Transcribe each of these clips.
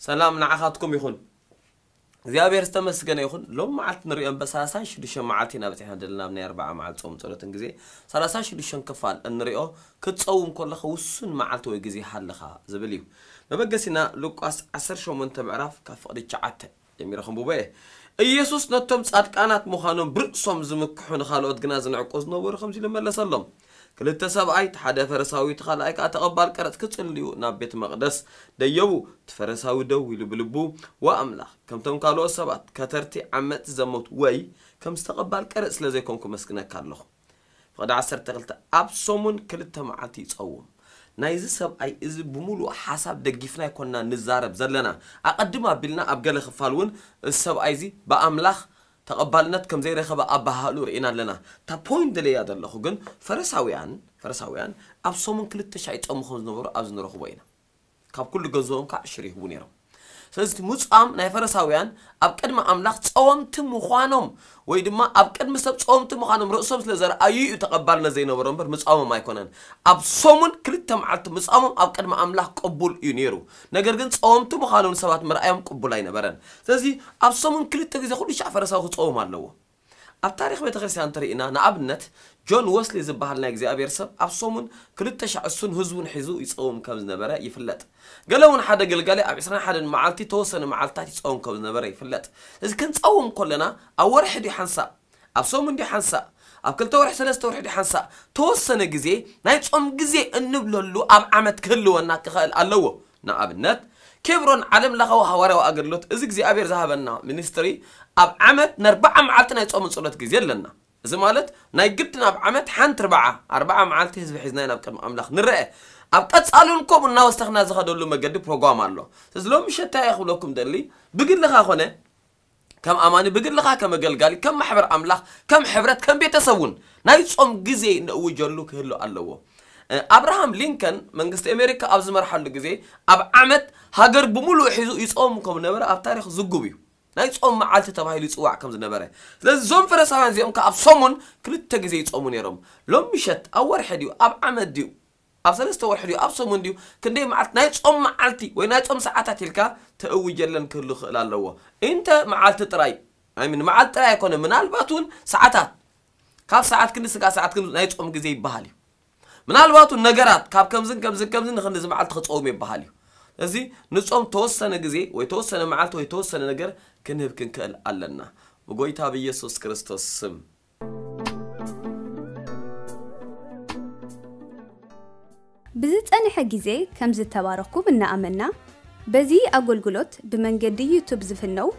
ሰላም ንዓኻትኩም ይኹን። እግዚኣብሔር ዝተመስገነ ይኹን። ሎም መዓልቲ ንሪኦ እምበር ሰላሳ ሽዱሽተ መዓልቲ ኢና በፂሕና ዘለና ኣብ ናይ ኣርባዓ መዓልቲ ጾም ጸሎትን ግዜ ሰላሳ ሽዱሽተ ክፋል እንሪኦ ክትጸውም ከለኻ ውሱን መዓልቲ ወይ ግዜ ሃለኻ ዝብል እዩ። መበገሲና ሉቃስ ዓሰርተ ሸሞንተ ምዕራፍ ካብ ፍቕዲ ትሽዓተ ጀሚረ ከንብቦ እየ። ኢየሱስ ነቶም ጻድቃናት ምዃኖም ብርእሶም ዝምክሑ ንኻልኦት ግና ዝንዕቁ ዝነበሩ ከምዚ ኢሉ መለሰሎም። ክልተ ሰብኣይ እቲ ሓደ ፈረሳዊ እቲ ካልኣይ ከዓ ተቐባል ቀረጽ ክጽልዩ ናብ ቤት መቕደስ ደየቡ። እቲ ፈረሳዊ ደው ኢሉ ብልቡ ዋ ኣምላኽ ከምቶም ካልኦት ሰባት ከተርቲ ዓመጽቲ ዘመቱ ወይ ከም ዝተቐባል ቀረጽ ስለ ዘይኮንኩ መስግነካ ኣለኹ። ፍቕዲ ዓሰርተ ክልተ ኣብ ሰሙን ክልተ መዓልቲ ይጸውም። ናይዚ ሰብኣይ እዚ ብምሉእ ሓሳብ ደጊፍና ኣይኮንና ንዛረብ ዘለና። ኣቐድም ኣቢልና ኣብ ገለ ክፋል እውን እዚ ሰብኣይ እዚ ብኣምላኽ ተቐባልነት ከም ዘይረኸበ ኣባሃሉ ርኢና ኣለና። እታ ፖይንት ደለያ ዘለኹ ግን ፈረሳውያን ፈረሳውያን ኣብ ሰሙን ክልተ ሻዕ ይጸሙ ከም ዝነበሩ ኣብዚ ንረኽቦ ኢና። ካብ ኩሉ ገንዘቦም ከዓ ዕሽር ይህቡ ነይሮም። ስለዚ እቲ ምጻም ናይ ፈረሳውያን ኣብ ቅድሚ ኣምላኽ ጸወምቲ ምዃኖም ወይ ድማ ኣብ ቅድሚ ሰብ ጸወምቲ ምዃኖም ርእሶም ስለ ዘርኣዩ እዩ ተቐባልነት ዘይነበሮ እምበር ምጻሞም ኣይኮነን። ኣብ ሰሙን ክልተ መዓልቲ ምጻሞም ኣብ ቅድሚ ኣምላኽ ቅቡል እዩ ነይሩ። ነገር ግን ጸወምቲ ምዃኖም ንሰባት ምርኣዮም ቅቡል ኣይነበረን። ስለዚ ኣብ ሰሙን ክልተ ግዜ ኩሉ ሻዕ ፈረሳዊ ክጸውም ኣለዎ። ኣብ ታሪኽ ቤተ ክርስቲያን እንተርኢና ንኣብነት ጆን ወስሊ ዝበሃል ናይ እግዚኣብሔር ሰብ ኣብ ሰሙን ክልተ ሻዕ እሱን ህዝቡን ሒዙ ይጸውም ከም ዝነበረ ይፍለጥ። ገለ እውን ሓደ ገልጋሊ ኣብ ዕስራን ሓደን መዓልቲ ተወሰነ መዓልትታት ይጸውም ከም ዝነበረ ይፍለጥ። እዚ ክንጸውም ከለና ኣብ ወርሒ ድዩ ሓንሳእ ኣብ ሰሙን ድዩ ሓንሳእ ኣብ ክልተ ወርሒ ሰለስተ ወርሒ ድዩ ሓንሳእ ተወሰነ ግዜ ናይ ጾም ግዜ እንብለሉ ኣብ ዓመት ክህልወና ክኽእል ኣለዎ። ንኣብነት ኬብሮን ዓለም ለኻዊ ሃዋርያዊ ኣገልግሎት እዚ እግዚኣብሔር ዝሃበና ሚኒስትሪ ኣብ ዓመት ንኣርባዓ መዓልቲ ናይ ጾምን ጸሎት ግዜ ኣለና። እዚ ማለት ናይ ግድን ኣብ ዓመት ሓንቲ ርብዓ ኣርባዓ መዓልቲ ህዝቢ ሒዝና ናብ ቅድሚ ኣምላኽ ንረአ። ኣብ ቀጻሊ እውን ከምኡ እናወሰኽና ዝኸደሉ መገዲ ፕሮግራም ኣሎ። ስለዚ ሎም ምሸት እንታይ ክብለኩም ደሊ ብግልኻ ኮነ ከም ኣማኒ ብግልኻ ከም ኣገልጋሊ ከም ማሕበር ኣምላኽ ከም ሕብረት ከም ቤተሰብ እውን ናይ ጾም ግዜ ነእውጀሉ ክህሉ ኣለዎ። ኣብርሃም ሊንከን መንግስቲ ኣሜሪካ ኣብ ዝመርሓሉ ግዜ ኣብ ዓመት ሃገር ብምሉእ ሒዙ ይጾም ከም ነበረ ኣብ ታሪኽ ዝጉብ እዩ። ናይ ጾም መዓልቲ ተባሂሉ ይጽዋዕ ከም ዝነበረ። ስለዚ እዞም ፈረሳውያን እዚኦም ከ ኣብ ሰሙን ክልተ ግዜ ይጾሙ ነይሮም። ሎም ምሸት ኣብ ወርሒ ድዩ ኣብ ዓመት ድዩ ኣብ ሰለስተ ወርሒ ድዩ ኣብ ሰሙን ድዩ ክንደይ መዓልቲ ናይ ጾም መዓልቲ ወይ ናይ ጾም ሰዓታት ኢልካ ተእውጀለን ክህሉ ክእል ኣለዎ። እንተ መዓልቲ ጥራይ ኣይምን መዓልቲ ጥራይ ኣይኮነ ምናልባት እውን ሰዓታት ካብ ሰዓት ክንዲ ስጋ ሰዓት ክንዲ ናይ ጾም ግዜ ይበሃል እዩ። ምናልባት እውን ነገራት ካብ ከምዝን ከምዝን ከምዝን ንክንዲ መዓልቲ ክጸውም ይበሃል እዩ። እዚ ንጾም ተወሰነ ግዜ ወይ ተወሰነ መዓልቲ ወይ ተወሰነ ነገር ክንህብ ክንክእል ኣለና። ብጎይታ ብኢየሱስ ክርስቶስ ስም። ብዝጸንሐ ግዜ ከም ዝተባረኽኩም እናኣመንና፣ በዚ ኣገልግሎት ብመንገዲ ዩቱብ ዝፍነው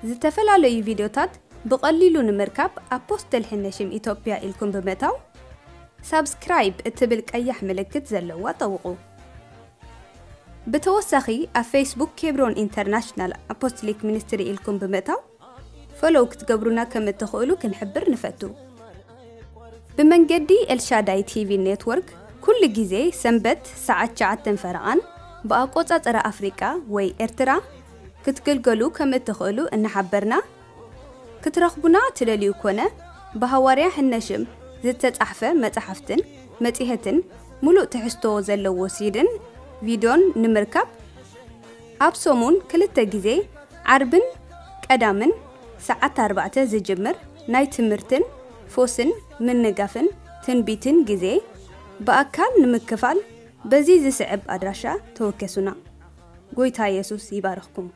ዝተፈላለዩ ቪድዮታት ብቐሊሉ ንምርካብ ኣፖስትል ሕነሽም ኢትዮጵያ ኢልኩም ብምእታው ሳብስክራይብ እትብል ቀያሕ ምልክት ዘለዋ ጠውቑ። ብተወሳኺ ኣብ ፌስቡክ ኬብሮን ኢንተርናሽናል ኣፖስትሊክ ሚኒስትሪ ኢልኩም ብምእታው ፎሎው ክትገብሩና ከም እትኽእሉ ክንሕብር ንፈቱ። ብመንገዲ ኤልሻዳይ ቲቪ ኔትወርክ ኩሉ ግዜ ሰንበት ሰዓት ትሽዓተ ፈረቓን ብኣቆጻጽራ ኣፍሪቃ ወይ ኤርትራ ክትግልገሉ ከም እትኽእሉ እናሓበርና፣ ክትረኽቡና ትደልዩ ኮነ ብሃዋርያ ሕነሽም ዝተጻሕፈ መጻሕፍትን መጺሔትን ሙሉእ ትሕዝቶ ዘለዎ ሲድን ቪድዮን ንምርካብ ኣብ ሰሙን ክልተ ግዜ ዓርብን ቀዳምን ሰዓት ኣርባዕተ ዝጅምር ናይ ትምህርትን ፎስን ምንጋፍን ትንቢትን ግዜ ብኣካል ንምክፋል በዚ ዝስዕብ ኣድራሻ ተወከሱና። ጎይታ የሱስ ይባርኽኩም።